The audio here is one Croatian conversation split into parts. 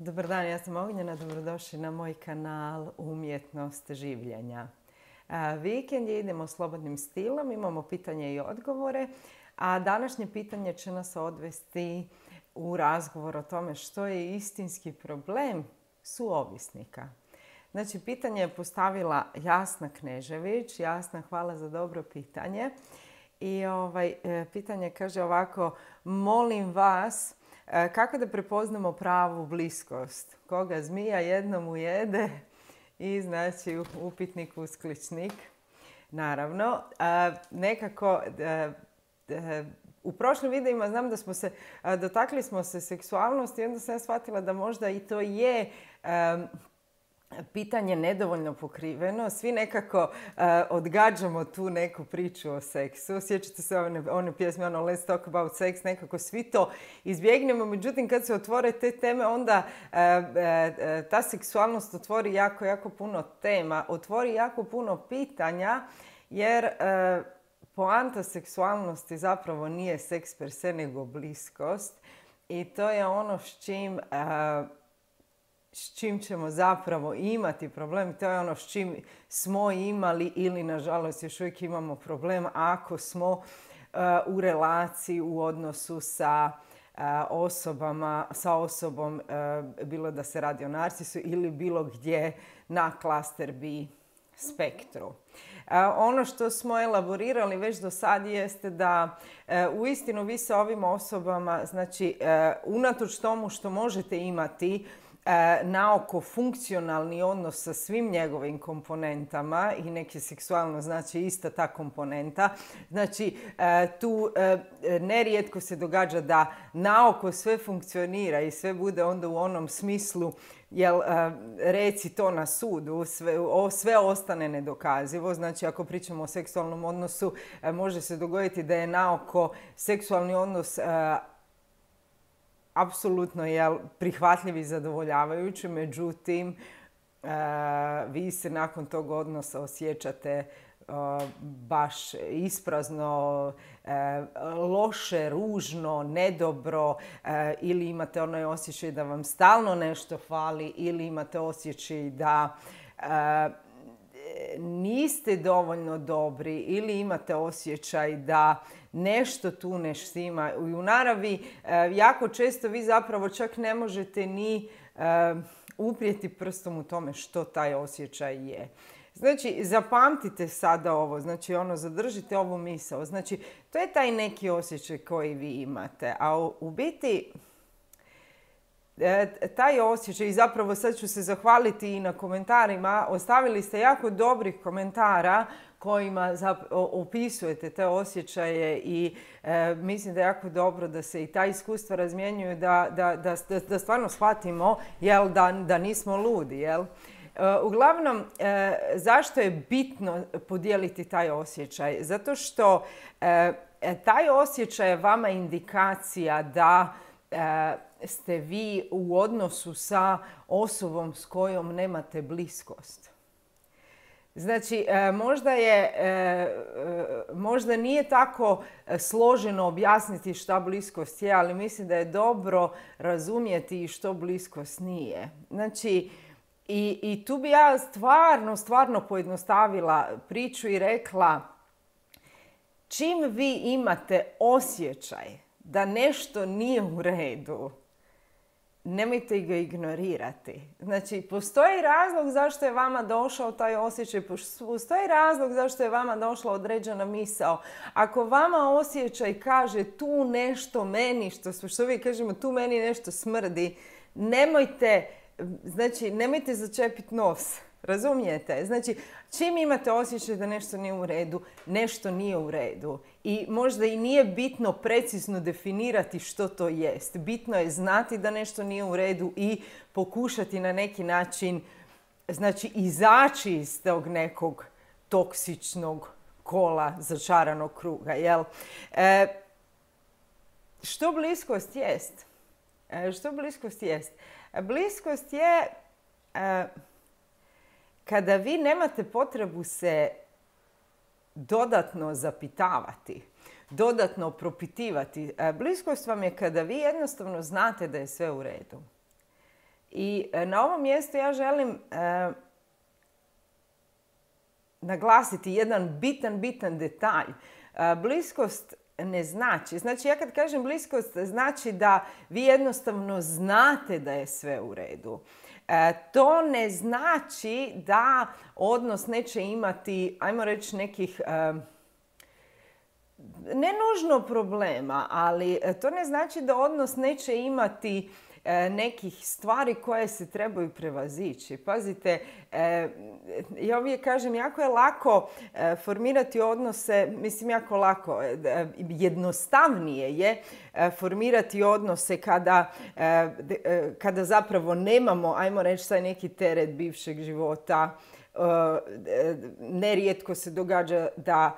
Dobar dan, ja sam Ognjena, dobrodošli na moj kanal Umjetnost življenja. Vikend je, idemo slobodnim stilom, imamo pitanje i odgovore, a današnje pitanje će nas odvesti u razgovor o tome što je istinski problem suovisnika. Znači, pitanje je postavila Jasna Knežević. Jasna, hvala za dobro pitanje. I pitanje kaže ovako: molim vas, kako da prepoznamo pravu bliskost? Koga zmija jednom ujede? I znači upitnik, uskličnik. Naravno, nekako u prošlim videima znam da smo se dotakli smo se seksualnosti i onda sam ja shvatila da možda i to je pitanje nedovoljno pokriveno. Svi nekako odgađamo tu neku priču o seksu. Sjećate se one pjesme, Let's talk about sex, nekako svi to izbjegnemo. Međutim, kad se otvore te teme, onda ta seksualnost otvori jako, jako puno tema. Otvori jako puno pitanja, jer poanta seksualnosti zapravo nije seks per se, nego bliskost. I to je ono s čim ćemo zapravo imati problem. To je ono s čim smo imali ili nažalost još uvijek imamo problem ako smo u relaciji, u odnosu sa osobom, bilo da se radi o narcisu ili bilo gdje na klaster B spektru. Ono što smo elaborirali već do sad jeste da uistinu vi sa ovim osobama, znači unatoč tomu što možete imati naoko funkcionalni odnos sa svim njegovim komponentama, i neki seksualno znači ista ta komponenta. Znači tu nerijetko se događa da naoko sve funkcionira i sve bude onda u onom smislu, jel reci to na sudu, sve ostane nedokazivo. Znači ako pričamo o seksualnom odnosu, može se dogoditi da je naoko seksualni odnos apsolutno je prihvatljiv i zadovoljavajući, međutim vi se nakon tog odnosa osjećate baš isprazno, loše, ružno, nedobro, ili imate onaj osjećaj da vam stalno nešto fali, ili imate osjećaj da niste dovoljno dobri, ili imate osjećaj da nešto tu ne štima. I u naravi jako često vi zapravo čak ne možete ni uprijeti prstom u tome što taj osjećaj je. Znači, zapamtite sada ovo, znači zadržite ovu misao. Znači, to je taj neki osjećaj koji vi imate, a u biti taj osjećaj, i zapravo sad ću se zahvaliti i na komentarima, ostavili ste jako dobrih komentara kojima opisujete te osjećaje i mislim da je jako dobro da se i ta iskustva razmjenjuju, da stvarno shvatimo da nismo ludi. Uglavnom, zašto je bitno podijeliti taj osjećaj? Zato što taj osjećaj je vama indikacija da ste vi u odnosu sa osobom s kojom nemate bliskost. Znači, možda nije tako složeno objasniti šta bliskost je, ali mislim da je dobro razumjeti što bliskost nije. Znači, i tu bi ja stvarno pojednostavila priču i rekla, čim vi imate osjećaj da nešto nije u redu, nemojte ga ignorirati. Znači, postoji razlog zašto je vama došao taj osjećaj, postoji razlog zašto je vama došla određena misao. Ako vama osjećaj kaže tu nešto meni, što uvijek kažemo, tu meni nešto smrdi, nemojte začepiti nos. Razumijete? Znači, čim imate osjećaj da nešto nije u redu, nešto nije u redu. I možda i nije bitno precizno definirati što to jest. Bitno je znati da nešto nije u redu i pokušati na neki način, znači, izaći iz tog nekog toksičnog kola, začaranog kruga. Što bliskost jest? Što bliskost jest? Bliskost je kada vi nemate potrebu se dodatno zapitavati, dodatno propitivati. Bliskost vam je kada vi jednostavno znate da je sve u redu. I na ovom mjestu ja želim naglasiti jedan bitan detalj. Bliskost ne znači, ja kad kažem bliskost, znači da vi jednostavno znate da je sve u redu. To ne znači da odnos neće imati, ajmo reći, nekih, ne nužno problema, ali to ne znači da odnos neće imati nekih stvari koje se trebaju prevazići. Pazite, ja uvijek kažem, jako je lako formirati odnose, mislim jako lako, jednostavnije je formirati odnose kada zapravo nemamo, ajmo reći, taj neki teret bivšeg života. Nerijetko se događa da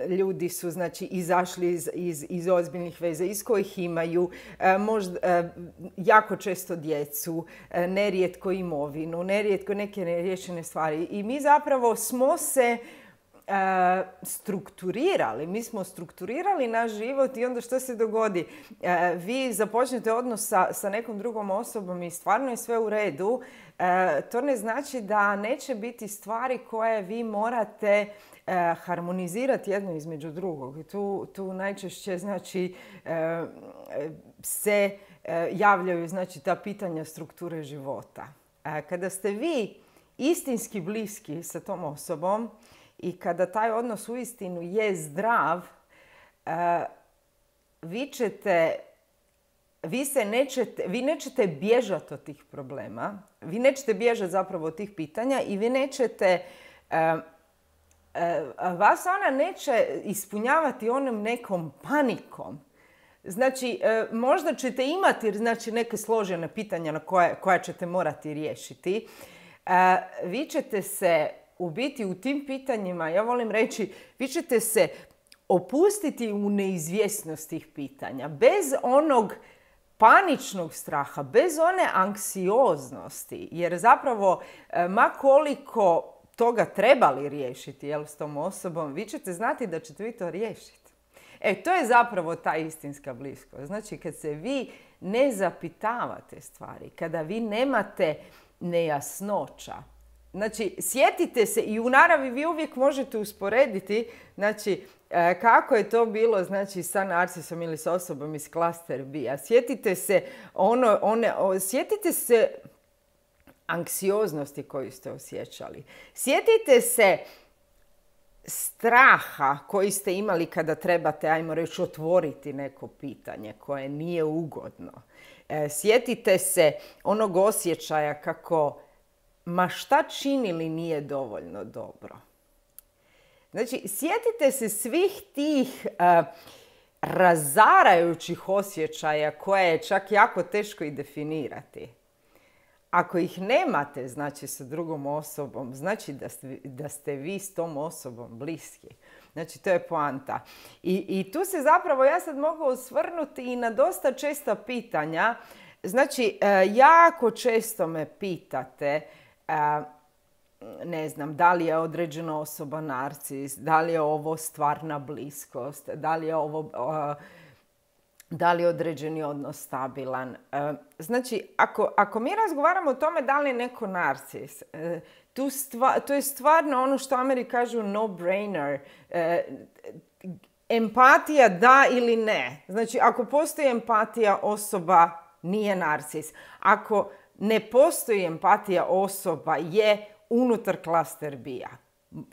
ljudi su, znači, izašli iz ozbiljnih veza iz kojih imaju možda jako često djecu, nerijetko imovinu, nerijetko neke neriješene stvari. I mi zapravo smo se strukturirali. Mi smo strukturirali naš život i onda što se dogodi? Vi započnete odnos sa nekom drugom osobom i stvarno je sve u redu. To ne znači da neće biti stvari koje vi morate harmonizirati jedno između drugog. Tu najčešće, znači, se javljaju, znači, ta pitanja strukture života. Kada ste vi istinski bliski sa tom osobom i kada taj odnos uistinu je zdrav, vi nećete bježati od tih problema, vi nećete bježati zapravo od tih pitanja i vi nećete, vas ona neće ispunjavati onom nekom panikom. Znači, možda ćete imati, znači, neke složene pitanja na koja ćete morati riješiti. Vi ćete se u biti u tim pitanjima, ja volim reći, vi ćete se opustiti u neizvjesnost tih pitanja. Bez onog paničnog straha, bez one anksioznosti, jer zapravo ma koliko toga trebali riješiti, s tom osobom, vi ćete znati da ćete vi to riješiti. To je zapravo ta istinska bliskost. Znači, kad se vi ne zapitavate stvari, kada vi nemate nejasnoća, znači, sjetite se i u naravi vi uvijek možete usporediti, znači, kako je to bilo, znači, sa narcisom ili sa osobom iz klaster B-a. Sjetite se sjetite se anksioznosti koju ste osjećali. Sjetite se straha koji ste imali kada trebate, ajmo reći, otvoriti neko pitanje koje nije ugodno. Sjetite se onog osjećaja kako ma šta činili nije dovoljno dobro. Znači, sjetite se svih tih razarajućih osjećaja koje je čak jako teško i definirati. Ako ih nemate, znači, sa drugom osobom, znači da ste vi s tom osobom bliski. Znači, to je poanta. I tu se zapravo, ja sad mogu osvrnuti i na dosta česta pitanja. Znači, jako često me pitate, ne znam, da li je određena osoba narcis, da li je ovo stvarna bliskost, da li je određeni odnos stabilan. Znači, ako mi razgovaramo o tome da li je neko narcis, to je stvarno ono što Ameri kažu no-brainer. Empatija da ili ne. Znači, ako postoji empatija, osoba nije narcis. Ako ne postoji empatija, osoba je unutar klaster B-a.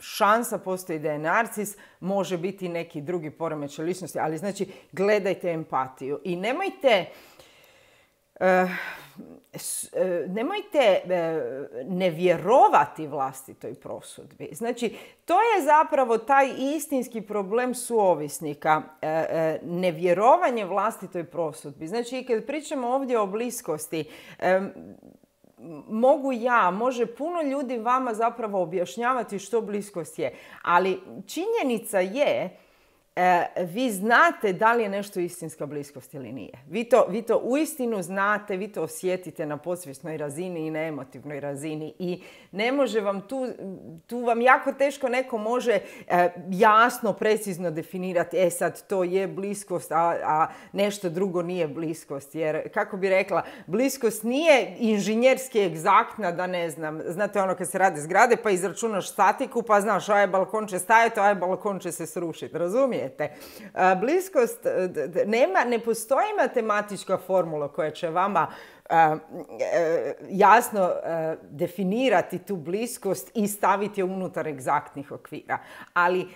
Šansa postoji da je narcis, može biti neki drugi poremećaj ličnosti, ali znači gledajte empatiju i nemojte ne vjerovati vlastitoj prosudbi. Znači, to je zapravo taj istinski problem suovisnika, nevjerovanje vlastitoj prosudbi. Znači, i kad pričamo ovdje o bliskosti, može puno ljudi vama zapravo objašnjavati što bliskost je. Ali činjenica je vi znate da li je nešto istinska bliskost ili nije. Vi to uistinu znate, vi to osjetite na podsvjesnoj razini i na emotivnoj razini i ne može vam tu vam jako teško neko može jasno, precizno definirati sad to je bliskost, a nešto drugo nije bliskost. Jer, kako bi rekla, bliskost nije inženjerski egzaktna da ne znam, znate ono kad se rade zgrade pa izračunaš statiku pa znaš balkon će stajati, balkon će se srušiti, razumijete? Bliskost, ne postoji matematička formula koja će vama jasno definirati tu bliskost i staviti je unutar egzaktnih okvira. Ali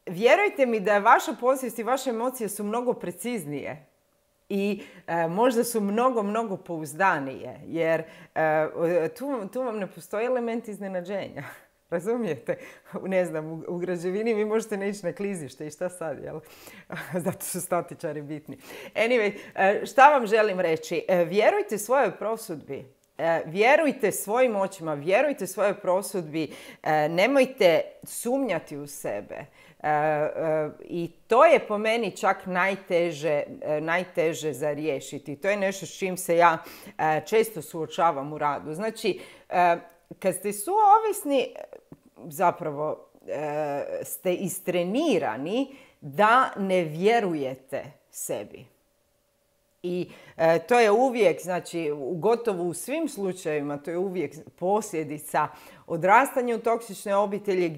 vjerujte mi da je vaša podsvijest i vaše emocije su mnogo preciznije i možda su mnogo pouzdanije, jer tu vam ne postoji element iznenađenja. Razumijete? Ne znam, u građevini vi možete ne ići na klizište i šta sad, jel? Zato su statičari bitni. Anyway, šta vam želim reći? Vjerujte svojoj prosudbi. Vjerujte svojim očima, vjerujte svojoj prosudbi. Nemojte sumnjati u sebe. I to je po meni čak najteže za riješiti. To je nešto s čim se ja često suočavam u radu. Znači, kad ste suovisni, zapravo ste istrenirani da ne vjerujete sebi. I to je uvijek, znači gotovo u svim slučajevima, to je uvijek posljedica odrastanja u toksičnoj obitelji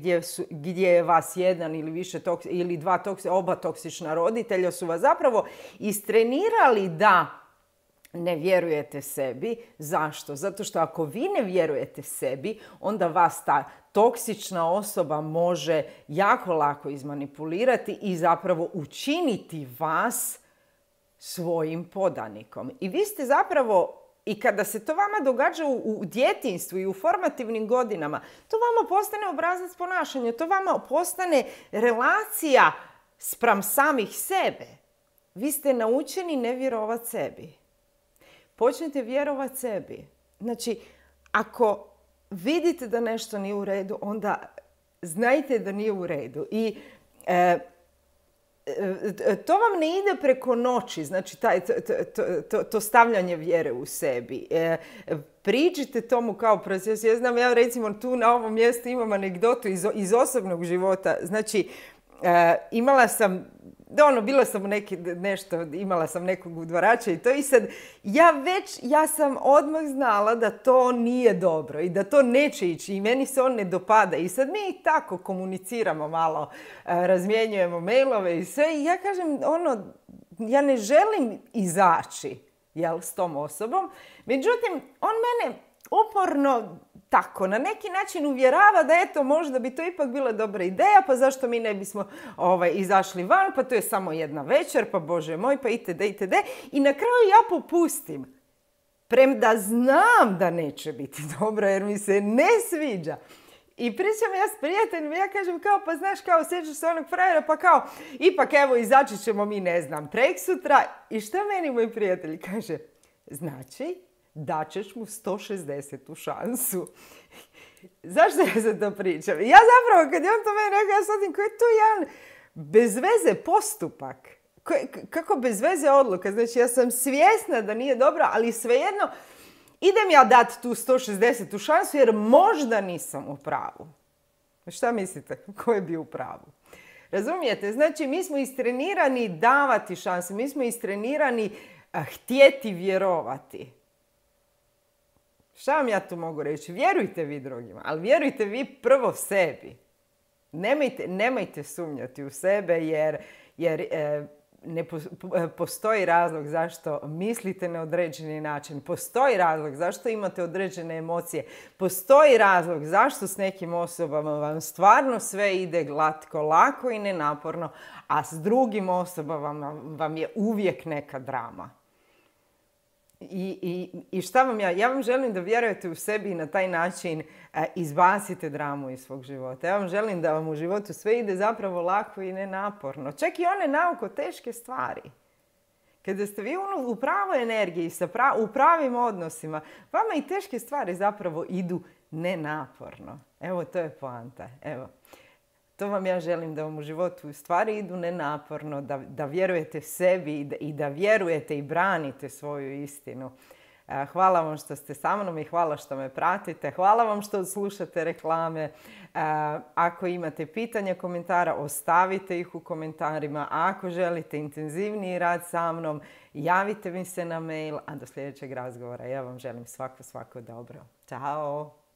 gdje je vas jedan ili više ili oba toksična roditelja su vas zapravo istrenirali da ne vjerujete sebi. Zašto? Zato što ako vi ne vjerujete sebi, onda vas ta toksična osoba može jako lako izmanipulirati i zapravo učiniti vas svojim podanikom. I vi ste zapravo, i kada se to vama događa u djetinjstvu i u formativnim godinama, to vama postane obrazac ponašanja, to vama postane relacija spram samih sebe. Vi ste naučeni ne vjerovati sebi. Počnite vjerovati sebi. Znači, ako vidite da nešto nije u redu, onda znajte da nije u redu. I to vam ne ide preko noći, znači to stavljanje vjere u sebi. Priđite tomu kao proces. Ja znam, ja recimo tu na ovom mjestu imam anegdotu iz osobnog života. Znači, imala sam bila sam imala sam nekog udvarača i to i sad ja sam odmah znala da to nije dobro i da to neće ići i meni se on ne dopada i sad mi tako komuniciramo malo, razmjenjujemo mailove i sve i ja kažem ja ne želim izaći s tom osobom, međutim on mene uporno tako, na neki način uvjerava da eto, možda bi to ipak bila dobra ideja, pa zašto mi ne bismo izašli van, pa to je samo jedna večer, pa Bože moj, pa itd. I na kraju ja popustim. Premda znam da neće biti dobro, jer mi se ne sviđa. I pričam ja s prijateljima, ja kažem kao, pa znaš, kao, sjećaš se onog frajera, pa kao, ipak evo, izaći ćemo mi, ne znam, preksutra. I šta meni moj prijatelj kaže? Znači, daćeš mu 160. šansu. Zašto ja sad to pričam? Ja zapravo, kad je on to meni rekao, ja shvatim koji je to jedan bezveze postupak. Kako bezveze odluka? Znači, ja sam svjesna da nije dobro, ali svejedno idem ja dati tu 160. šansu jer možda nisam u pravu. Šta mislite? Ko je bio u pravu? Razumijete? Znači, mi smo istrenirani davati šanse. Mi smo istrenirani htjeti vjerovati. Šta vam ja tu mogu reći? Vjerujte vi drugima, ali vjerujte vi prvo sebi. Nemojte sumnjati u sebe jer ne postoji razlog zašto mislite na određeni način. Postoji razlog zašto imate određene emocije. Postoji razlog zašto s nekim osobama vam stvarno sve ide glatko, lako i nenaporno, a s drugim osobama vam je uvijek neka drama. I šta vam ja vam želim da vjerujete u sebi i na taj način izbacite dramu iz svog života. Ja vam želim da vam u životu sve ide zapravo lako i nenaporno. Čak i one naoko teške stvari. Kada ste vi u pravoj energiji, u pravim odnosima, vama i teške stvari zapravo idu nenaporno. Evo, to je poanta. Evo. To vam ja želim, da vam u životu stvari idu nenaporno, da vjerujete sebi i da vjerujete i branite svoju istinu. Hvala vam što ste sa mnom i hvala što me pratite. Hvala vam što slušate reklame. Ako imate pitanja, komentara, ostavite ih u komentarima. A ako želite intenzivniji rad sa mnom, javite mi se na mail. A do sljedećeg razgovora ja vam želim svako dobro. Ćao!